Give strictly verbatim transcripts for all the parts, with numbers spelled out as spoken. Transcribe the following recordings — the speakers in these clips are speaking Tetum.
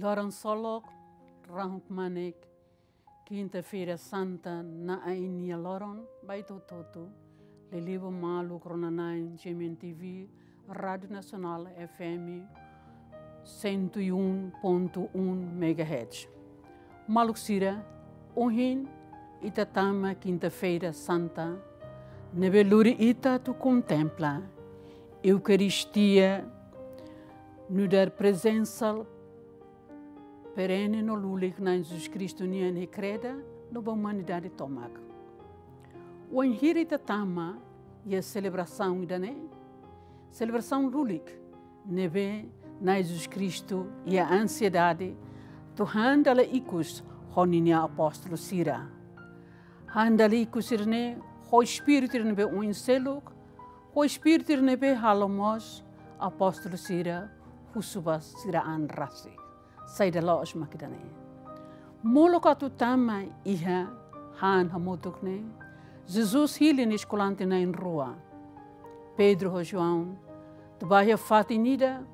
Loron solok, rahun kmanek, Kinta-feira Santa, na'in-nia loron ba ita hotu-hotu. Liuliu ba maluk rona-na'in G M N T V, Rádio Nacional F M cento e um ponto um megahertz. Maluk sira, ohin ita tama Kinta-feira Santa, ne'ebé lori ita atu kontempla Eukaristia nu'udar prezensa perene no lulik Na'i Jesus Kristu nian iha kreda no ba umanidade tomak. Wainhira ita tama iha selebrasaun ida-ne'e, selebrasaun lulik ne'ebé Na'i Jesus Kristu iha ansiedade atu han dala ikus ho ninia apóstolu sira. Han dala ikus sira-ne'e ho espíritu ida ne'ebé oin seluk, ho espíritu ida ne'ebé halo mós apóstolu sira husu ba sira an rasik. Saida loos mak ida-ne'e? Molok atu tama iha han hamutuk ne'e, Jesus hili nia eskolante na'in-rua, Pedro ho João, atu bá iha fatin ida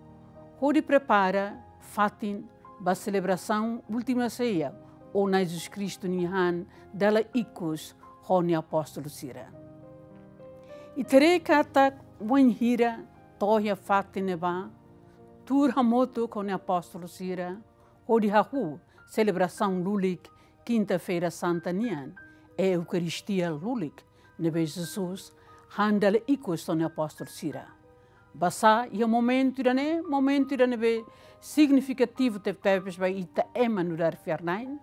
hodi prepara fatin ba selebrasaun Última Ceia, ou Na'i Jesus Kristu nia han dala ikus ho nia apóstolu sira. Ita haree katak wainhira to'o iha fatin ne'ebá, tuur hamutuk ho nia apóstolu sira hodi hahú selebrasaun lulik Kinta-feira Santa nian, Eukaristia lulik ne'ebé Jesus han dala ikus ho nia apóstolu sira. Basá iha momentu ida-ne'e, momentu ida ne'ebé signifikativu tebetebes ba ita ema nu'udar fiar-na'in,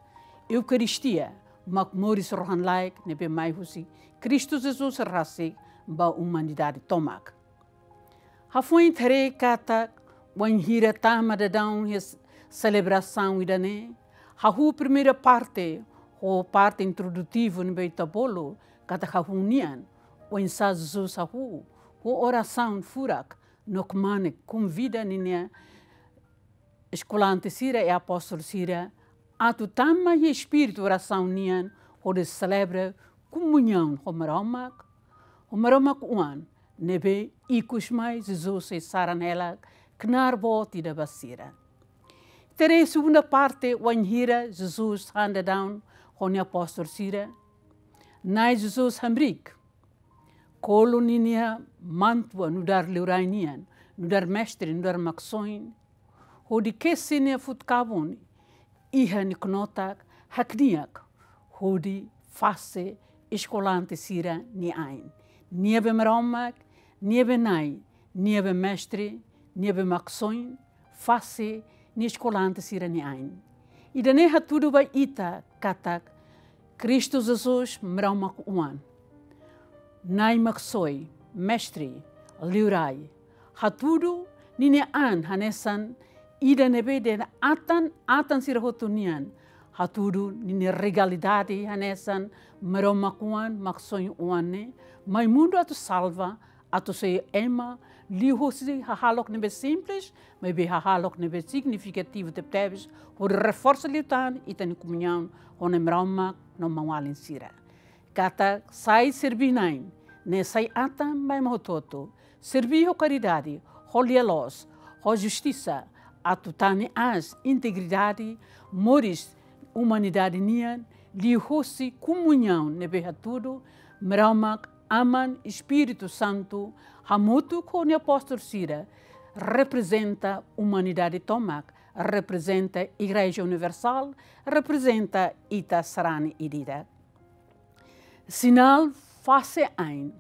Eukaristia mak moris rohan-laek ne'ebé mai husi Kristu Jesus rasik ba umanidade tomak. Hafoin ita haree katak wainhira tama daudaun iha selebrasaun ida-ne'e, hahú primeira parte, ho parte introdutivu ne'ebé ita bolu katak hahú nian, oinsá Jesus hahú, ho orasaun furak, no kmanek konvida ninia eskolante sira i apóstolu sira atu tama iha espíritu orasaun nian hodi selebra komuñaun ho Maromak, ho Maromak Oan, ne'ebé ikus mai Jesus sei saran hela knaar boot ida ba sira. Ita haree segunda parte, wainhira Jesus han daudaun ho nia apóstolu sira, Na'i Jesus hamriik, kolu ninia mantua nu'udar liurai nian, nu'udar mestre, nu'udar Maksoin, hodi kesi nia futkabun, iha nia knotak, hakne'ak hodi fase eskolante sira-nia ain. Nia be Maromak, nia be Na'i, nia be mestre, nia be Maksoin, fase nia eskolante sira-nia ain. Ida-ne'e hatudu ba ita katak Kristu Jesus Maromak Oan, Na'i Maksoin, mestre, liurai, hatudu ninia an hanesan ida ne'ebé dehan atan, atan sira hotu nian, hatudu ninia realidade hanesan Maromak Oan, Maksoin Oan ne'e mai mundu atu salva, atu sai ema, liuhusi hahalok ne'ebé simples, maibé hahalok ne'ebé signifikativu tebetebes, hodi reforsa liután ita-nia komuñaun ho Na'i Maromak no maun-alin sira. Katak sai serbí Na'i ne'e sai atan ba ema hotu-hotu, serbí ho karidade, ho lia-loos, ho justisa, atu tane aas integridade moris umanidade nian, liuhusi komuñaun ne'ebé hatudu Maromak Aman, Espíritu Santu, hamutuk ho nia apóstolu sira, reprezenta umanidade tomak, reprezenta Igreja Universál, reprezenta ita sarani ida-idak. Sinál fase ain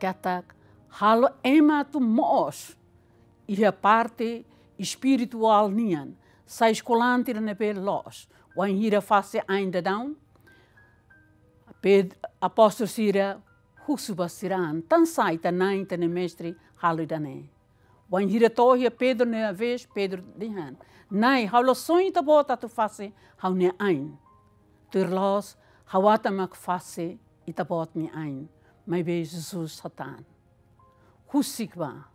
katak halo ema atu moos iha parte espirituál nian, sai eskolante ida ne'ebé loos. Wainhira fase ain daudaun, Ped-, apóstolu sira husu ba sira an, tansá ita-nia Na'i, ita-nia Mestre halo ida-ne'e? Wainhira to'o iha Pedro nia vez, Pedro dehan: Na'i, ha'u la sonhu Ita-Boot atu fase ha'u-nia ain. Tuir loos, ha'u atan mak fase Ita-Boot nia ain. Maibé Jesus hatán: Husik bá.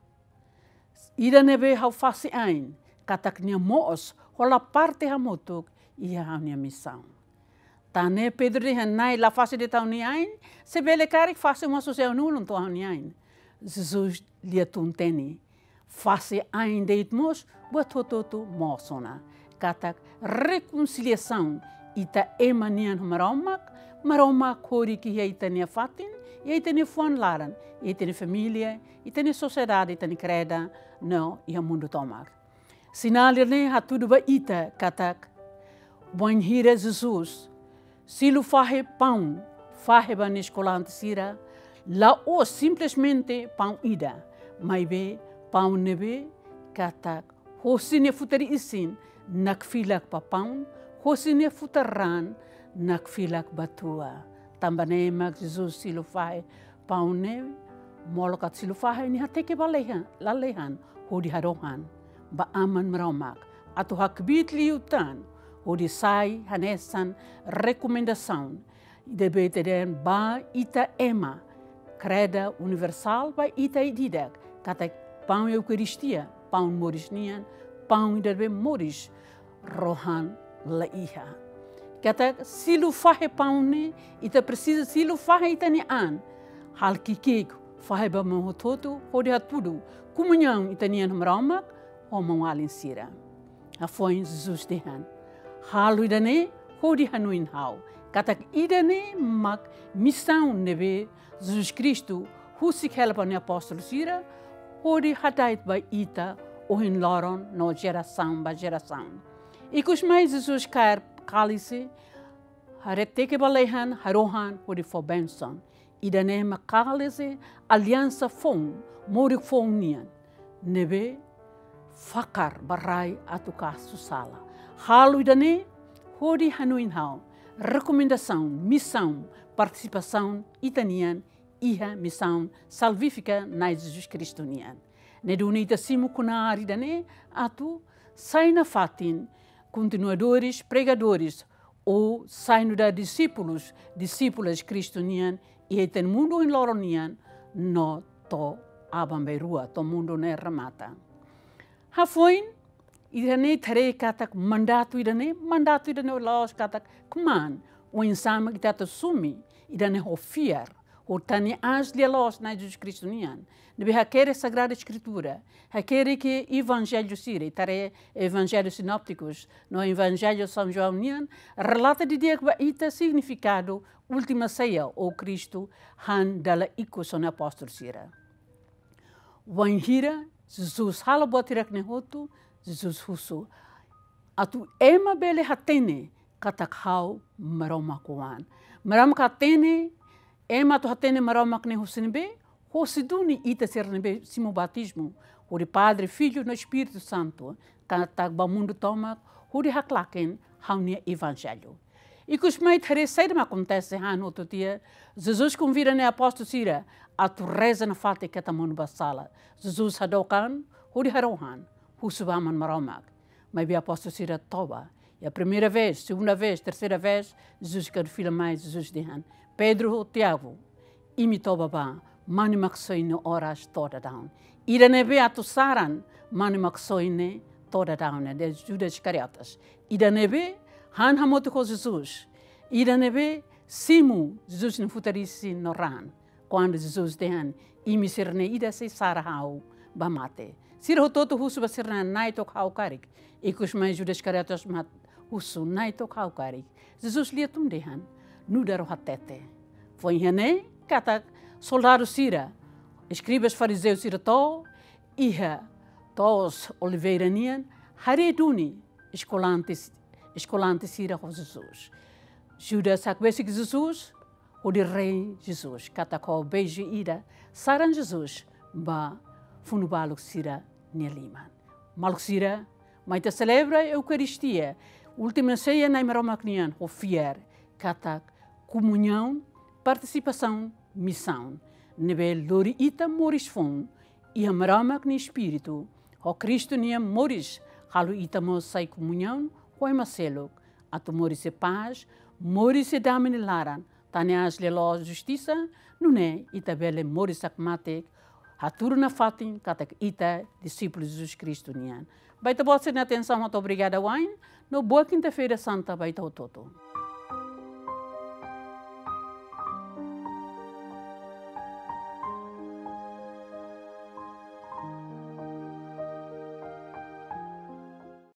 Ida ne'ebé ha'u fase ain, katak nia moos, hola parte hamutuk iha ha'u-nia misaun. Tan ne'e Pedro dehan: Na'i, la fase de'it ha'u-nia ain, se bele karik fase mós husi ha'u-nia ulun to'o ha'u-nia ain. Jesus lia tun-teni: fase ain de'it mós, buat hotu-hotu mosu ona. Katak rekonsiliasaun ita ema nian ho Maromak, Maromak hodi iha ita-nia fatin, iha ita-nia fuan laran, iha ita-nia família, ita-nia sosiedade, ita-nia kreda, no iha mundu tomak. Sinál ida-ne'e hatudu ba ita katak bainhira Jesus silu fahe paun, fahe ba nia eskolante sira, la'ós simplesmente paun ida, maibé paun ne'ebé katak hosi nia futar isin nakfilak ba paun, hosi nia futar raan nakfilak ba tua. Tanba ne'e mak Jesus silu fahe paun ne'e, molok atu silu fahe, nia hateke ba lalehan, lalehan, hodi harohan ba Aman Maromak atu hakbiit liután, hodi sai hanesan rekomendasaun ida ne'ebé ita dehan ba ita ema, kreda universál ba ita ida-idak, katak paun Eukaristia, paun moris nian, paun ida ne'ebé moris rohan la iha. Katak silu fahe paun ne'e, ita presiza silu fahe ita-nia an. Halo ki'ik-ki'ik, fahe ba maun hotu-hotu, hodi hatudu komuñaun ita-nian ho Maromak, ho maun-alin sira. Hafoin Jesus dehan: Halo ida-ne'e hodi hanoin ha'u. Katak ida-ne'e mak misaun ne'ebé Jesus Kristu husik hela ba nia apóstolu sira, hodi hada'et ba ita ohin loron no jerasaun ba jerasaun. Ikus mai Jesus kaer kálise, haree, teke ba lalehan, harohan, hodi fó bensaun. Ida-ne'e mak kálise aliansa foun, morik foun nian, ne'ebé fakar ba rai atu kasu sala. Halo ida-ne'e hodi hanoin ha'u. Rekomendasaun, misaun, partisipasaun ita-nian iha misaun salvífika Na'i Jesus Kristu nian. Ne'e duni ita simu knaar ida-ne'e atu sai nafatin kontinuadores, pregadores, ou sai nu'udar disípulus, disípulas Kristu nian, iha ita-nia mundu ohin loron nian, no to'o aban-bainrua, to'o mundu ne'e remata. Hafoin, ida-ne'e ita haree katak mandatu ida-ne'e, mandatu ida-ne'e la'ós katak kmaan, oinsá mak ita atu asume ida-ne'e ho fiar, hodi tane aas lia-loos Na'i Jesus Kristu nian. Ne'ebé hakerek Sagrada Eskritura, hakerek Evanjellu sira, ita haree Evanjellu Sinóptikus, no Evanjellu São João nian, relata didi'ak ba ita signifikadu Última Seia, ou Kristu han dala ikus ho nia apóstolu sira. Wainhira Jesus halo buat hirak-ne'e hotu, Jesus husu atu ema bele hatene katak ha'u Maromak oan. Maromak hatene, ema atu hatene Maromak ne'e husi ne'ebé, husi duni ita sira ne'ebé simu batizmu, hodi Padre, Filho no Espíritu Santu, katak ba mundu tomak, hodi haklaken ha'u-nia Evanjellu. Ikus mai ita haree saida mak akontese han hotu tiha, Jesus konvida nia apóstolu sira atu reza nafatin keta monu ba sala. Jesus hadook an, hodi harohan, husu ba Aman Maromak. Maibé apóstolu sira toba. Iha primeira vez, segunda vez, terceira vez, Jesus kaer fila mai, Jesus dehan: Pedro, Tiago, imi toba bá, Mane Maksoin nia oras to'o daudaun. Ida ne'ebé atu saran Mane Maksoin ne'e to'o daudaun ne'e, de Judas Iscariotes. Ida ne'ebé han hamutuk ho Jesus. Ida ne'ebé simu Jesus nia futar isin no raan. Kuandu Jesus dehan: Imi sira-ne'e ida sei sara ha'u ba mate. Sira hotu-hotu husu ba sira-nia an: Na'i, to'ok ha'u karik. Ikus mai Judas Iscariotes mak husu: Na'i, to'ok ha'u karik. Jesus lia tun dehan: Nu'udar ó hatete. Foin iha ne'e katak soldadu sira, eskribas farizeu sira to'o iha to'os Oliveira nian, haree duni eskolante, eskolante sira ho Jesus. Judas hakbesik Jesus, hodi rei Jesus, katak ho beijo ida, saran Jesus ba funu-baluk sira-nia liman. Maluk sira, mai ita selebra Eukaristia, Última Seia Na'i Maromak nian, ho fiar katak komuñaun, partisipasaun, misaun ne'ebé lori ita moris foun iha Maromak nia Espíritu, ho Kristu nia moris, halo ita mós sai komuñaun ho ema seluk, atu moris iha pás, moris iha dame nia laran, tane aas lia-loos justisa, nune'e ita bele moris hakmatek, hatudu nafatin katak ita disípulu Jesus Kristu nian. Ba ita-boot sira-nia atensaun hotu obrigada wa'in, no boa Kinta-feira Santa ba ita hotu-hotu.